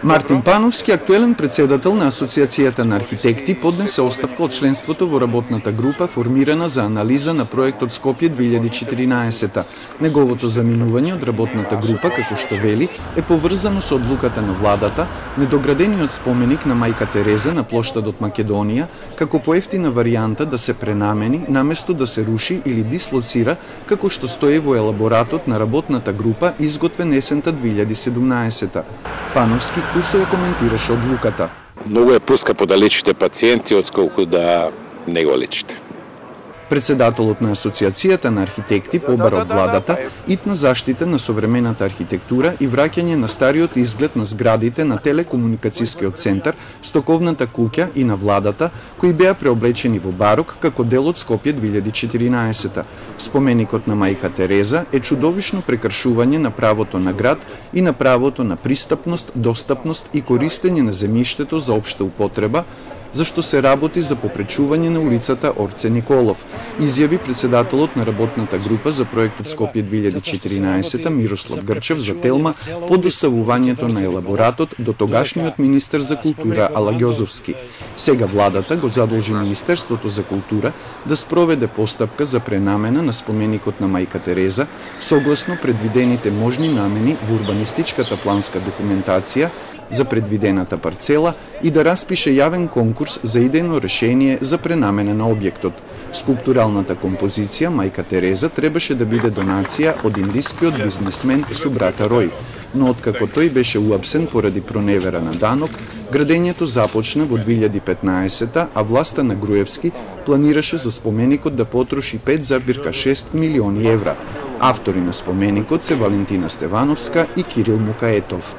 Мартин Пановски, актуелен председател на Асоциацијата на архитекти, поднесе оставка од членството во работната група формирана за анализа на проектот Скопје 2014. Неговото заминување од работната група, како што вели, е поврзано со одлуката на владата, недоградениот споменик на мајка Тереза на плоштадот Македонија, како поевтина варијанта да се пренамени, наместо да се руши или дислоцира, како што стои во елаборатот на работната група изготвен есента 2017. Пановски курсово коментираше одлуката. Многу е поскапо да лечите пациенти отколку да не го лечите. Председателот на Асоциацијата на архитекти побара од владата итна заштита на современата архитектура и враќање на стариот изглед на зградите на телекомуникацијскиот центар, стоковната куќа и на владата, кои беа преоблечени во барок како дел од Скопје 2014. Споменикот на мајка Тереза е чудовишно прекршување на правото на град и на правото на пристапност, достапност и користење на земјиштето за општа употреба, зашто се работи за попречување на улицата Орце Николов, изјави председателот на работната група за проектот Скопје 2014 Мирослав Грчев за Телма по доставувањето на елаборатот до тогашниот министер за култура Ала Ѓозовски. Сега владата го задолжи Министерството за култура да спроведе постапка за пренамена на споменикот на мајка Тереза, согласно предвидените можни намени во урбанистичката планска документација за предвидената парцела и да распише јавен конкурс за идејно решение за пренамена на објектот. Скулптуралната композиција мајка Тереза требаше да биде донација од индискиот бизнесмен Субрата Рој, но откако тој беше уапсен поради проневера на данок, градењето започна во 2015, а власта на Груевски планираше за споменикот да потроши 5,6 милиони евра. Автори на споменикот се Валентина Стевановска и Кирил Мукаетов.